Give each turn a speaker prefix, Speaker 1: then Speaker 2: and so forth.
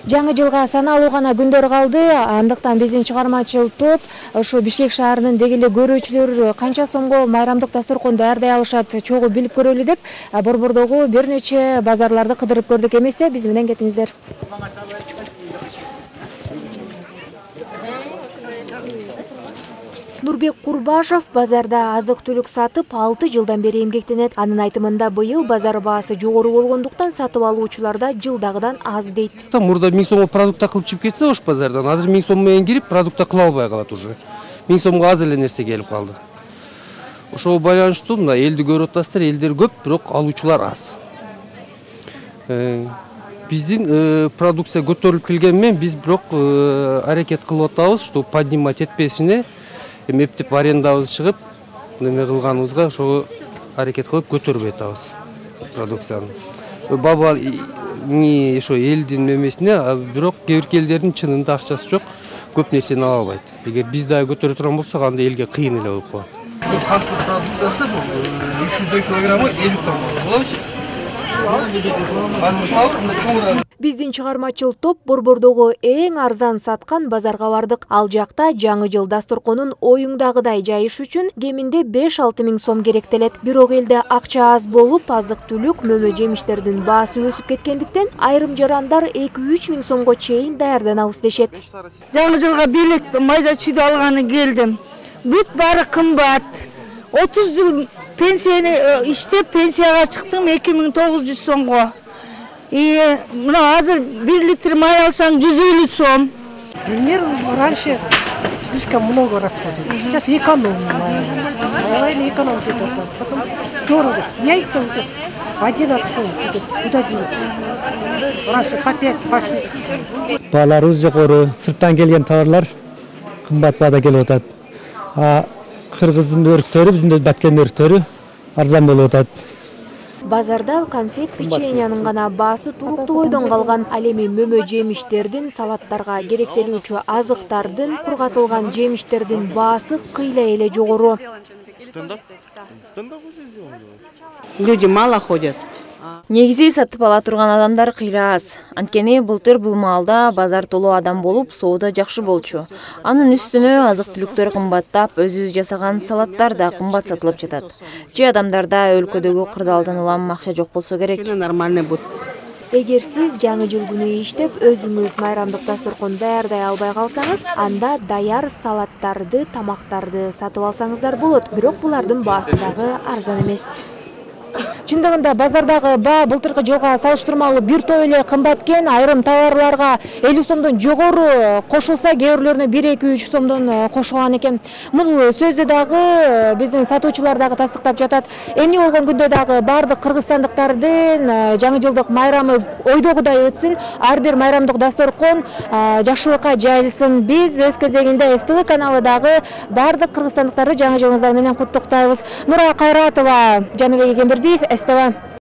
Speaker 1: Жаңы жылга саналуу гана күндөр калды. Андыктан биздин чыгармачыл топ ошо Бишкек шаарынын деги эле көрүүчүлөр канча сомго майрамдык дасторкон даярдай алышат чогуу билип көрөлү деп Борбордогу бир нече базарларды кыдырып көрдүк. Эмесе биз менен кетиңиздер. Нурбек Курбашев базарда азык-түлүк сатып 6 жылдан бери эмгектенет. Анын айтымында быйыл базар баасы жогору болгондуктан сатып алуучуларда жылдагыдан аз дейт.
Speaker 2: Мурда 1000 сомго продукта кылып чыгып кетсе ош базардан, азыр 1000 сом менен кирип продукта кыла албай калат уже. 1000 сомго аз эле нерсе келип калды. Ошого байланыштуу мына элди көрүп атасыздар, элдер көп, бирок алуучулар аз. Биздин продукция көтөрүлүп келген менен биз бирок аракет кылып атабыз, что поднимать этпесине эптеп арендабыз чыгып, неме кылганыбызга ошого аракет кылып көтөрүп атабыз продукцияны. Баба ошо элдин немесине, бирок кээ бир элдердин чынында акчасы жок, көп нерсени ала албайт. Эгер биз дагы көтөрө турган болсок, анда элге кыйын эле болуп калат. Канттын продукциясы 300 килограммы 50 сом болобу?
Speaker 1: Биздин чыгармачыл топ Борбордогу эң арзан саткан базарга бардык. Ал жакта жаңы жыл дасторконун оюңдагыдай жайыш үчүн кеминде 5-6 миң сом керектелет. Бирок элде акча аз болуп, азык-түлүк, мөмө жемиштердин баасы өсүп кеткендиктен айрым жарандар 2-3 миң сомго чейин даярданабыз дешет.
Speaker 3: Жаңы жылга белек майда чүйдү алганы келдим. Бүт баары кымбат. 30 жыл пенсияны иштеп пенсияга чыктым 2900 сомго. Мына азыр 1 литр май алсаң 150 сом.
Speaker 4: Раньше слишком много расходовали. Сейчас экономим. Экономим. Потом дорого. Яйца уже 11 сом. Куда делать? Раньше по 5, по 6.
Speaker 5: Бааларыбыз жогору, сырттан келген товарлар кымбат баада келип атат. Кыргыздын өрүктөрү, биздин баткен өрүктөрү арзан болуп атат.
Speaker 1: Базарда конфет печеньянын гана баасы туруктуу бойдон калган. Ал эми мөмө жемиштердин, салаттарга керектелүүчү азыктардын, кургатылган жемиштердин баасы кыйла эле жогору.
Speaker 3: Люди мало ходят.
Speaker 6: Негизи сатып ала турган адамдар кыйла аз. Анткени былтыр бул маалда базар толуу адам болуп, соода жакшы болчу. Анын үстүнө азык-түлүктөр кымбаттап, өзүбүз жасаган салаттар да кымбат сатылып жатат. Же адамдарда өлкөдөгү кырдаалдан улам акча жок болсо керек.
Speaker 1: Эгер сиз жаңы жыл күнү иштеп, өзүңүз майрамдык дасторкон даярдай албай калсаңыз, анда даяр салаттарды, тамактарды сатып алсаңыздар болот. Бирок булардын баасы дагы арзан эмес. Чындыгында базардагы баа былтыркы жылга салыштырмалуу бир топ эле кымбат экен. Айрым товарларга 50 сомдон жогору кошулса, кээ бирлөрүнө 1-2-3 сомдон кошулган экен. Бул сөздү дагы биздин сатуучулар дагы тастыктап жатат. Эмне болгон күндө дагы бардык кыргызстандыктардын жаңы жылдык майрамы ойдогудай өтсүн. Ар бир майрамдык дасторкон жакшылыкка жайылсын. Биз өз кезегинде СТВ каналы дагы бардык кыргызстандыктарды жаңы жылыңыздар менен куттуктайбыз. Нура Кайратова, Жаныбек Эгембердиев, СТВ.